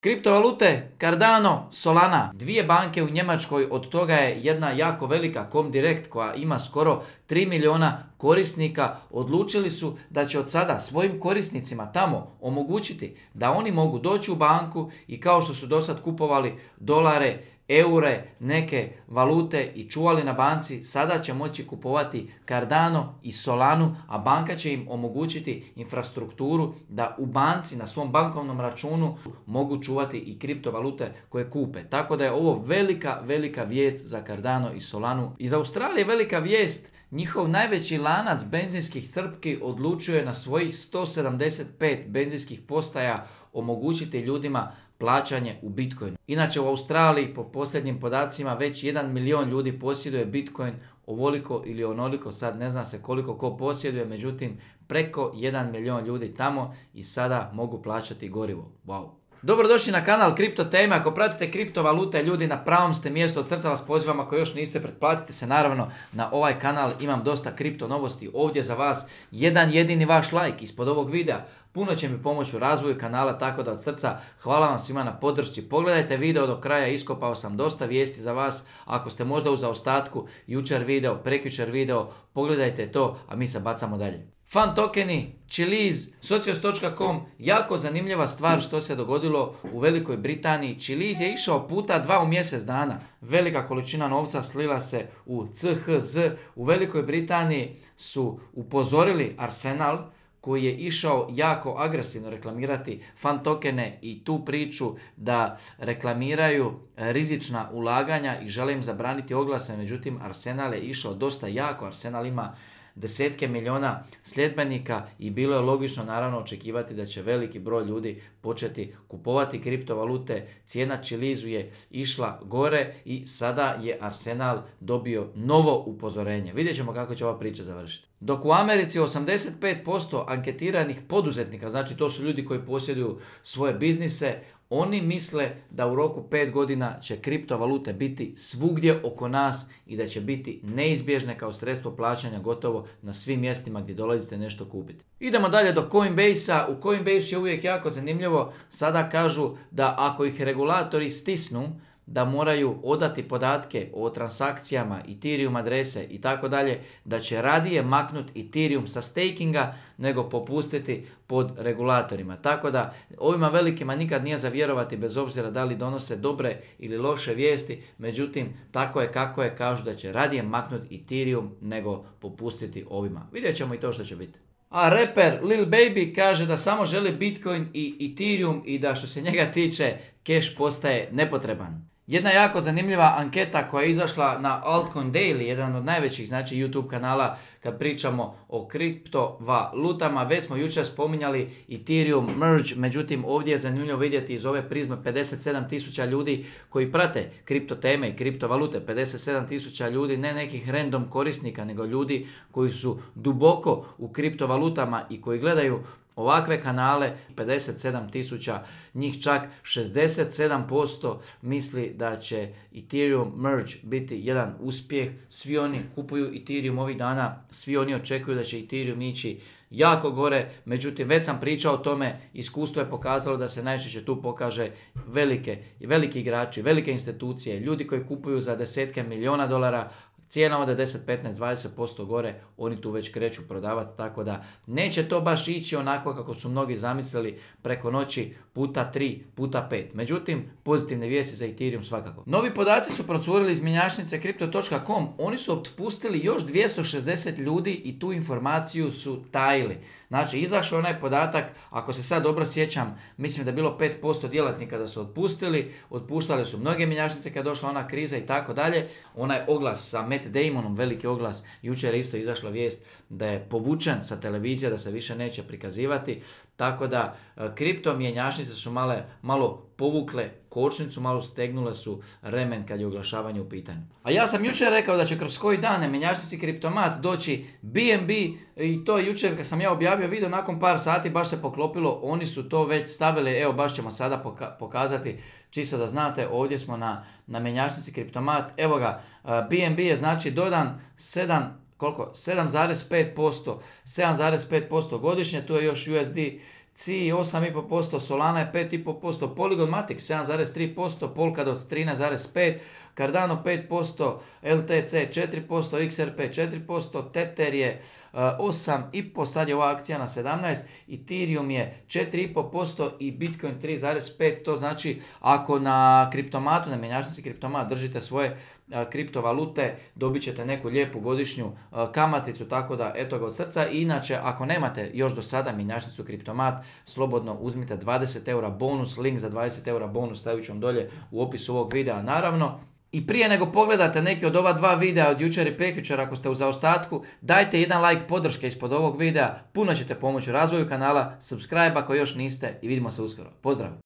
Kriptovalute, Cardano, Solana, dvije banke u Njemačkoj, od toga je jedna jako velika Comdirect koja ima skoro 3 miliona korisnika, odlučili su da će od sada svojim korisnicima tamo omogućiti da oni mogu doći u banku i kao što su do sad kupovali dolare, eure, neke valute i čuvali na banci, sada će moći kupovati Cardano i Solanu, a banka će im omogućiti infrastrukturu da u banci na svom bankovnom računu mogu čuvati i kriptovalute koje kupe. Tako da je ovo velika vijest za Cardano i Solanu. Iz Australije velika vijest, njihov najveći lanac benzinskih crpki odlučio je na svojih 175 benzinskih postaja omogućiti ljudima plaćanje u Bitcoinu. Inače u Australiji po posljednjim podacima već 1 milion ljudi posjeduje Bitcoin, ovoliko ili onoliko, sad ne zna se koliko ko posjeduje, međutim preko 1 milion ljudi tamo i sada mogu plaćati gorivo. Wow. Dobrodošli na kanal Kripto Teme. Ako pratite kriptovalute, ljudi, na pravom ste mjestu. Od srca vas pozivam, ako još niste, pretplatite se naravno na ovaj kanal. Imam dosta kripto novosti ovdje za vas. Jedan jedini vaš like ispod ovog videa puno će mi pomoći u razvoju kanala, tako da od srca hvala vam svima na podršci. Pogledajte video do kraja, iskopao sam dosta vijesti za vas. Ako ste možda u zaostatku, jučer video, prekjučer video, pogledajte to, a mi se bacamo dalje. Fan tokeni, Chiliz, Socios.com, jako zanimljiva stvar što se dogodilo u Velikoj Britaniji. Chiliz je išao puta 2 u mjesec dana. Velika količina novca slila se u CHZ. U Velikoj Britaniji su upozorili Arsenal, koji je išao jako agresivno reklamirati fan tokene i tu priču da reklamiraju rizična ulaganja i žele im zabraniti oglase. Međutim, Arsenal je išao dosta jako. Arsenal ima desetke miliona sljedbenika i bilo je logično naravno očekivati da će veliki broj ljudi početi kupovati kriptovalute. Cijena Chilizu je išla gore i sada je Arsenal dobio novo upozorenje. Vidjet ćemo kako će ova priča završiti. Dok u Americi 85% anketiranih poduzetnika, znači to su ljudi koji posjeduju svoje biznise, oni misle da u roku 5 godina će kriptovalute biti svugdje oko nas i da će biti neizbježne kao sredstvo plaćanja gotovo na svim mjestima gdje dolazite nešto kupiti. Idemo dalje do Coinbase-a. U Coinbase je uvijek jako zanimljivo. Sada kažu da ako ih regulatori stisnu da moraju odati podatke o transakcijama, Ethereum adrese i tako dalje, da će radije maknuti Ethereum sa stakinga nego popustiti pod regulatorima. Tako da ovima velikima nikad nije za vjerovati, bez obzira da li donose dobre ili loše vijesti, međutim tako je kako je, kažu da će radije maknuti Ethereum nego popustiti ovima. Vidjet ćemo i to što će biti. A reper Lil Baby kaže da samo želi Bitcoin i Ethereum i da što se njega tiče cash postaje nepotreban. Jedna jako zanimljiva anketa koja je izašla na Altcoin Daily, jedan od najvećih znači YouTube kanala kad pričamo o kriptovalutama. Već smo jučer spominjali Ethereum merge, međutim ovdje je zanimljivo vidjeti iz ove prizme 57.000 ljudi koji prate kripto teme i kriptovalute. 57.000 ljudi, ne nekih random korisnika, nego ljudi koji su duboko u kriptovalutama i koji gledaju ovakve kanale. 57.000, njih čak 67% misli da će Ethereum merge biti jedan uspjeh. Svi oni kupuju Ethereum ovih dana, svi oni očekuju da će Ethereum ići jako gore, međutim već sam pričao o tome, iskustvo je pokazalo da se najčešće tu pokaže veliki igrači, velike institucije, ljudi koji kupuju za desetke miliona dolara. Cijena ode 10, 15, 20% gore, oni tu već kreću prodavati, tako da neće to baš ići onako kako su mnogi zamislili preko noći puta 3, puta 5. Međutim, pozitivne vijesti za Ethereum svakako. Novi podaci su procurili iz mjenjačnice Crypto.com, oni su otpustili još 260 ljudi i tu informaciju su tajili. Znači, izašao onaj podatak, ako se sad dobro sjećam, mislim da je bilo 5% djelatnika da su otpustili, otpuštali su mnoge mjenjačnice kad je došla ona kriza i tako dalje. Onaj oglas sa Matt Damonom, veliki oglas, jučer je isto izašla vijest da je povučen sa televizije, da se više neće prikazivati, tako da kripto mjenjačnice su malo povukle kočnicu, malo stegnule su remen kad je oglašavanje u pitanju. A ja sam jučer rekao da će kroz koji dane mjenjačnici Kriptomat doći BNB i to jučer kad sam ja objavio video, nakon par sati baš se poklopilo, oni su to već stavili, evo baš ćemo sada pokazati, čisto da znate, ovdje smo na mjenjačnici Kriptomat, evo ga, BNB je znači dodan 7,5% godišnje, tu je još USD CI 8,5%, Solana je 5,5%, Polygon Matic 7,3%, Polkadot 13,5%, Cardano 5%, LTC 4%, XRP 4%, Tether je 8,5%, sad je ova akcija na 17%, Ethereum je 4,5% i Bitcoin 3,5%. To znači ako na kriptomatu, na mjenjačnici kriptomat držite svoje kriptovalute, dobit ćete neku lijepu godišnju kamaticu, tako da eto ga od srca. I inače, ako nemate još do sada mjenjačnicu kriptomat, slobodno uzmite 20 eura bonus, link za 20 eura bonus stavit ću vam dolje u opisu ovog videa naravno. I prije nego pogledate neki od ova dva videa od jučer i prekjučer, ako ste u zaostatku, dajte jedan like podrške ispod ovog videa, puno ćete pomoći u razvoju kanala, subscribe ako još niste i vidimo se uskoro. Pozdrav!